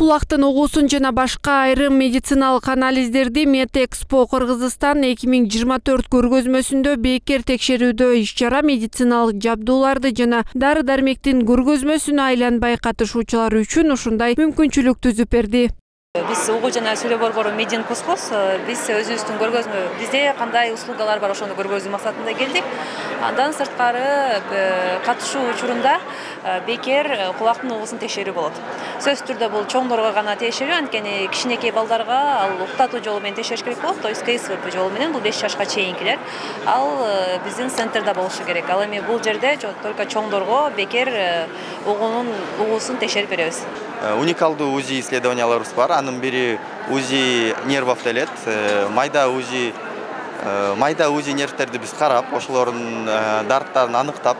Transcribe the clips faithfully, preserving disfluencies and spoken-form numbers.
Кулактын угуусун жана башка айрым медициналык анализдерди Медэкспо Кыргызстан эки миң жыйырма төрт көргөзмөсүндө бекер текшерүүдө иш-чара медициналык жабдууларды жана дары-дармектин көргөзмөсүнө айланбай катышуучулар үчүн ушундай мүмкүнчүлүк түзүп берди. Биз угуу жана сүйлөө борбору Медин Кускус, биз өзүбүздүн көргөзмө, бизде кандай услугалар бар ошону көргөзүү максатында келдик. Андан сырткары катышуу учурунда бекер кулактын угуусун текшерүү болот. Сөзсүз түрдө бул чоңдорго гана тиешелүү, анткени кичинекей балдарга ал уктатуу жолу менен текшериш керек болот, то есть КСВП жолу менен, бул беш жашка чейинкилер. Ал биздин центрда болушу керек. Ал эми бул жерде только чоңдорго бекер угуунун угуусун текшерип беребиз. Уникалдуу УЗИ исследованияларыбыз бар. Анын бири УЗИ нервов делет. Майда УЗИ майда УЗИ нервтерди биз карап, ошолордун дарттарын аныктап,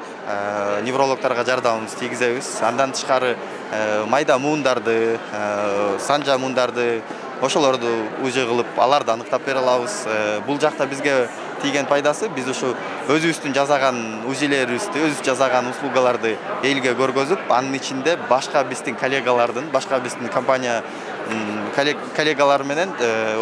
неврологторго жардамыбызды тийгизебиз. Андан тышкары майда муундарды, санжа муундарды, ошолорду УЗИ кылып, аларды аныктап бере алабыз. Бул жакта бизге тийген пайдасы, биз ушу өзүбүздүн жасаган УЗИлерибизди, өзүбүз жасаган услугаларды элге көргөзүп, анын ичинде башка биздин коллегалардын, башка биздин компания коллегалар менен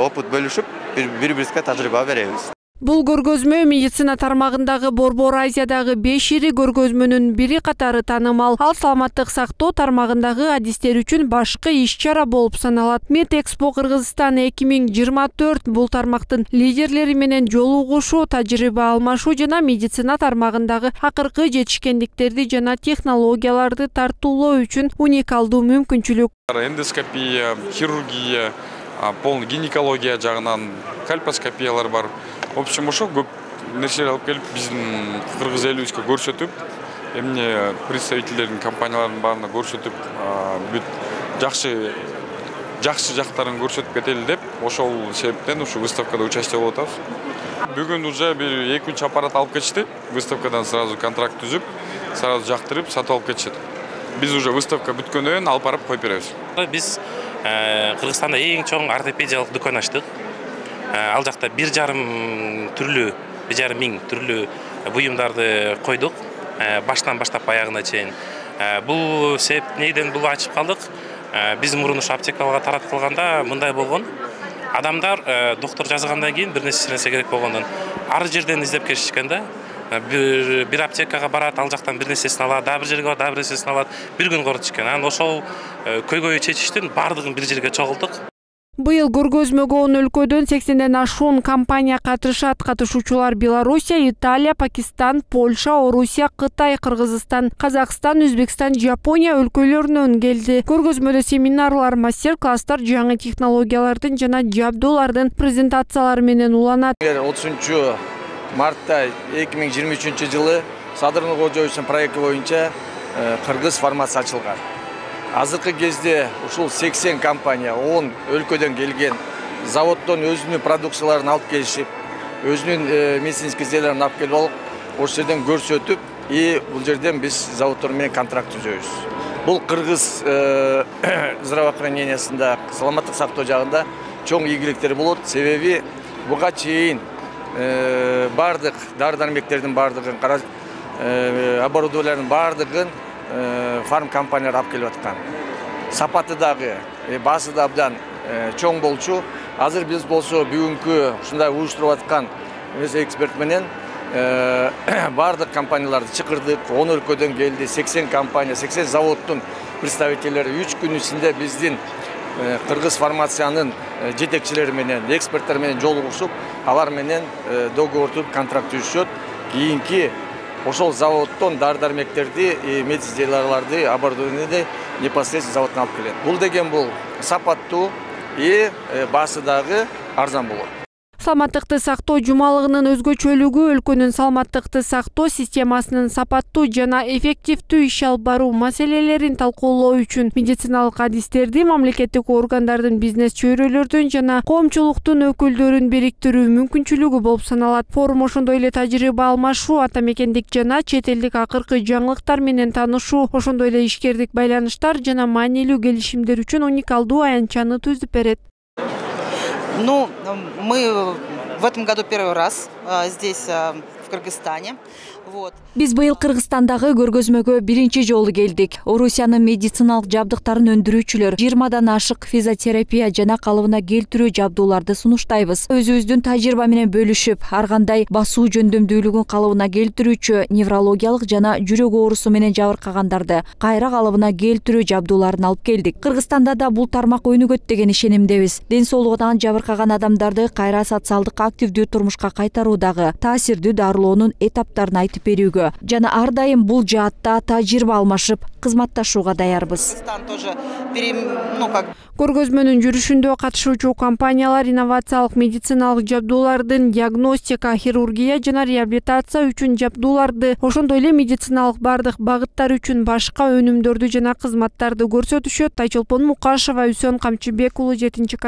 опыт бөлүшүп, бири-бирибизге тажрыйба беребиз. Бул көргөзмө медицина тармагындагы Борбор Азиядагы беш ири көргөзмөнүн бири катары таанымал. Ал саламаттык сактоо тармагындагы адистер үчүн башкы иш-чара болуп саналат. Медэкспо Кыргызстан эки миң жыйырма төрт бул тармактын лидерлери менен жолугушуу, тажрыйба алмашуу жана медицина тармагындагы акыркы жетишкендиктерди жана технологияларды тартуулоо үчүн уникалдуу мүмкүнчүлүк. Эндоскопия, хирургия, полный гинекология жагынан кальпоскопиялар бар. В общем, ошо көп нерселер алып келип биздин кыргыз элибизге көрсөтүп, эмне представительдердин компаниялардын баарына көрсөтүп, бүт жакшы жакшы жактарын көрсөтүп кетели деп, ошол себептен ушу выставкада участие болуп атабыз. Бүгүн уже бир эки үч аппарат алып кетишти. Выставкадан сразу контракт түзүп, сразу жактырып, сатып алып кетишет. Биз уже выставка бүткөндөн кийин алып барып коюп беребиз. Биз Кыргызстанда эң чоң ортопедиялык дүкөн ачтык. Ал жакта бир жарым түрлүү, бир жарым миң түрлүү буюмдарды койдук, баштан баштап аягына чейин. Бул себеп неден бул ачып калдык? Биз мурун ушу аптекаларга тараткылганда мындай болгон. Адамдар доктор жазгандан кийин бир нерсе нерсе керек болгондон ар жерден издеп келишкен да. Бир бир аптекага барат, ал жактан бир нерсесин алат, дагы бир жерге барат, дагы бир нерсесин алат. Бир күн корутушкен. Анан ошол көйгөйү чечиштин бардыгын бир жерге чогултук. Быйыл көргөзмөгө он өлкөдөн сексенден ашуун компания катышат. Катышуучулар Белоруссия, Италия, Пакистан, Польша, Орусия, Кытай, Кыргызстан, Казакстан, Өзбекстан, Жапония өлкөлөрүнөн келди. Көргөзмөдө семинарлар, мастер-класстар жаңы технологиялардын жана жабдуулардын презентациялары менен уланат. отузунчу мартта эки миң жыйырма үчүнчү жылы Садыр Нуркожоевичтин проекти боюнча кыргыз фармация ачылган. Азыркы кезде ушул сексен компания он өлкөдөн келген, заводдон өзүнүн продукцияларын алып келишип, өзүнүн медицинский изделияларын алып келип алып, ошол жерден көрсөтүп, и бул жерден биз заводдор менен контракт түзөбүз. Бул кыргыз здравоохранениясында, саламаттык сактоо жагында чоң ийгиликтер болот, себеби буга чейин бардык дары-дармектердин бардыгын, оборудованиялардын бардыгын фарм компаниялар алып келип аткан. Сапаты дагы, баасы да абдан чоң болчу. Азыр биз болсо бүгүнкү ушундай уюштуруп аткан эксперт менен бардык компанияларды чакырдык. он өлкөдөн келди, сексен компания, сексен заводдун представительдери үч күн ичинде биздин кыргыз фармациянын жетекчилери менен, эксперттер менен жолугушуп, алар менен договорду, контракт түзүшөт. Кийинки ошол заводдон дары-дармектерди, медизделияларды, оборудованияны непосредственно заводдон алып келет. Бул деген бул сапаттуу и баасы дагы арзан болот. Саламаттыкты сактоо жумалыгынын өзгөчөлүгү өлкөнүн саламаттыкты сактоо системасынын сапаттуу жана эффективдүү иш алып баруу маселелерин талкуулоо үчүн медициналык адистерди, мамлекеттик органдардын, бизнес чөйрөлөрдүн жана коомчулуктун өкүлдөрүн бириктирүү мүмкүнчүлүгү болуп саналат. Форум ошондой эле тажрыйба алмашуу, ата мекендик жана чет элдик акыркы жаңылыктар менен таанышуу, ошондой эле ишкердик байланыштар жана маанилүү келишимдер үчүн уникалдуу аянтчаны түзүп берет. Ну, мы в этом году первый раз здесь в Кыргызстане. Вот. Биз быйыл Кыргызстандагы көргөзмөгө биринчи жолу келдик. Орусиянын медициналык жабдыктарын өндүрүүчүлөр жыйырмадан ашык физиотерапия жана калыбына келтирүү жабдууларды сунуштайбыз. Өзүбүздүн тажрыйба менен бөлүшүп, ар кандай басуу жөндөмдүүлүгүн калыбына келтирүүчү неврологиялык жана жүрөк оорусу менен жабыркагандарды кайра калыбына келтирүү жабдууларын алып келдик. Кыргызстанда да бул тармак өнүгөт деген ишенимдебиз. Ден соолугунан жабыркаган адамдарды кайра социалдык активдүү турмушка кайтаруудагы таасирдүү дарылоонун этаптарын айтып берүүгө жана ар дайым бул жаатта тажрыйба алмашып, кызматташууга даярбыз. Көргөзмөнүн жүрүшүндө катышуучу компаниялар инновациялык медициналык жабдуулардын диагностика, хирургия жана реабилитация үчүн жабдууларды, ошондой эле медициналык бардык багыттар үчүн башка өнүмдөрдү жана кызматтарды көрсөтүшөт. Айчолпон Мукашева, Үсөн Камчыбек уулу, жетинчи канал.